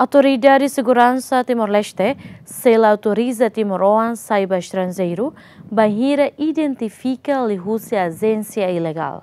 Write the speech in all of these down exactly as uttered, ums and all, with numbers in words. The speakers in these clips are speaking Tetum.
Autoridade Seguransa Timor-Leste sela autoriza timoroan sai ba estranjeiru, bainhira identifika liuhusi ajénsia ilegál.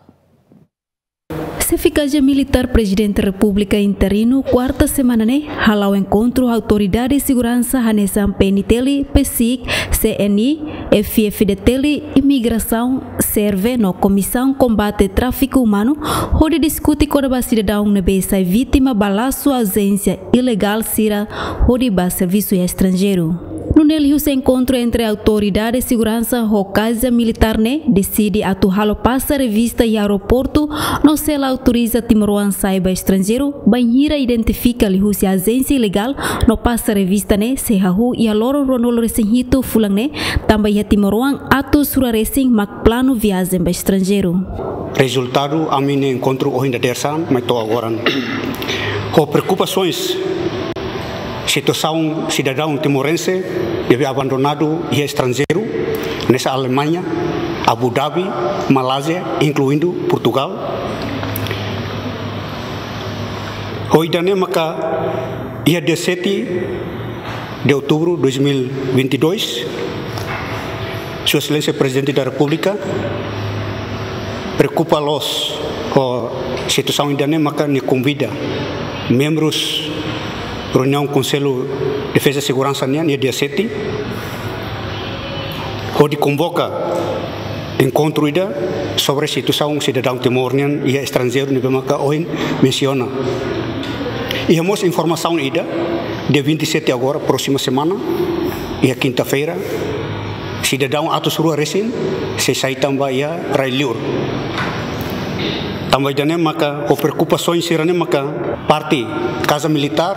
Xefe Kaza Militár Prezidente Repúblika interinu, kuarta semana ne'e, hala'o enkontru autoridade seguransa hanesan P N T L, PCIC, C N I, F F D T L, Imigrasaun, SERVE no Komisaun Kombate Tráfiku Umanu, hodi diskute kona-ba sidadaun ne'ebé sai vítima ba lasu ajénsia ilegál sira hodi ba servisu iha estranjeiru. Nune'e liuhusi enkontru entre autoridade seguransa ho Kaza Militár ne'e deside atu halo pasa revista iha aeroportu no sela autoriza timoroan sai ba estranjeiru, bainhira identifika liuhusi ajénsia ilegál no pasa revista ne'e sei hahú iha loron ruanulu-resin-hitu fulan ne'e, tanba iha timoroan atus rua resin mak planu viajen ba estranjeiru. Rezultadu ami-nia enkontru ohin dadeer-saan mai to'o agora. Ho preokupasoens situasaun sidadaun timorense ne'ebé abandonadu iha estranjeiru, hanesan Alemaña, Abu Dhabi, Malázia, inkluindu Portugal. Ho ida-ne'e maka iha dia sete de outubro dois mil e vinte e dois, Sua Exelénsia Prezidente da Repúblika preokupa loos ho situasaun ida-ne'e maka nia konvida membrus reuniaun Konsellu Defeza Seguransa nian iha dia sete, hodi konvoka enkontru ida sobre situasaun sidadaun Timor nian iha estranjeiru ne'ebé maka ohin mensiona. Iha mós informasaun ida, dia vinte e sete agora, próxima semana, iha kinta-feira, sidadaun atus rua resin sei sai tan ba iha rai-liur. Tanba ida-ne'e maka ho preokupasoens sira-ne'e maka parte Kaza Militár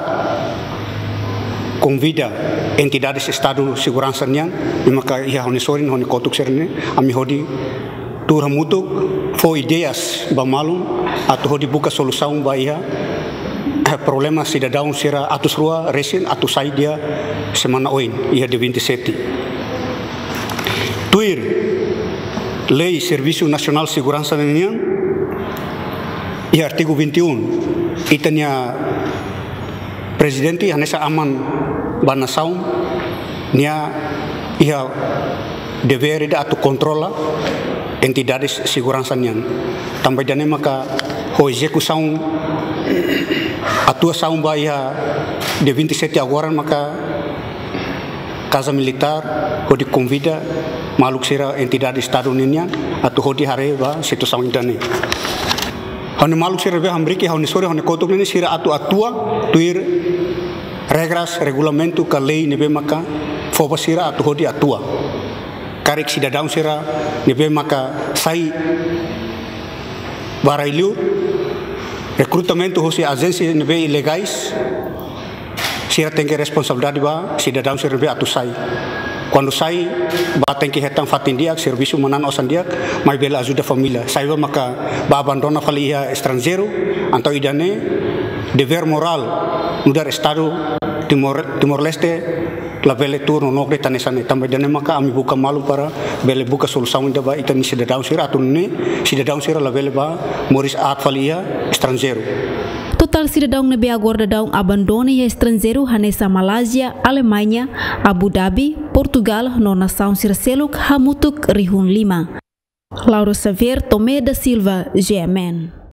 konvida entidades Estadu seguransa nian, ne'e maka iha ha'u-nia sorin, ha'u-nia kotuk sira-ne'e, ami hodi tuur hamutuk fó ideias ba malu atu hodi buka solusaun ba iha problema sidadaun sira atus rua resin atu sai iha semana oin, iha dia vinte e sete. Tuir Lei Servisu Nasionál Seguransa nian, iha artigu vinte e um, ita-nia Prezidente hanesan aman ba nasaun, nia iha devér ida atu kontrola entidades seguransa nian. Tanba ida-ne'e maka ho ezekusaun atuasaun ba iha dia vinte e sete agora maka Kaza Militár hodi konvida maluk sira entidade Estadu ninian atu hodi haree ba situasaun ida-ne'e. Ha'u-nia maluk sira ne'ebé hamriik iha ha'u-nia sorin, ha'u-nia kotuk ne'e sira atu atua tuir regras, regulamentu ka lei ne'ebé maka fó ba sira atu hodi atua. Karik sidadaun sira ne'ebé maka sai ba rai-liur, rekrutamentu husi ajénsia ne'ebé ilegais, sira tenke responsabilidade ba sidadaun sira ne'ebé atu sai. Kuandu sai, bá tenke hetan fatin di'ak, servisu manán osan di'ak, mai bele ajuda família. Sai bá maka bá abandona fali iha estranjeiru, entaun ida-ne'e devér morál nu'udar Estadu Timor, Timor-Leste, labele tuur nonook de'it hanesan ne'e. Tanba ida-ne'e maka ami buka malu para bele buka solusaun ida ba ita-nia sidadaun sira atu nune'e sidadaun sira labele bá moris aat fali iha estranjeiru. Totál sidadaun ne'ebé agora daudaun abandona iha estranjeiru hanesan Malázia, Alemaña, Abu Dhabi, Portugal no nasaun sira seluk hamutuk rihun lima. Laura Xavier, Tomé da Silva, G M N.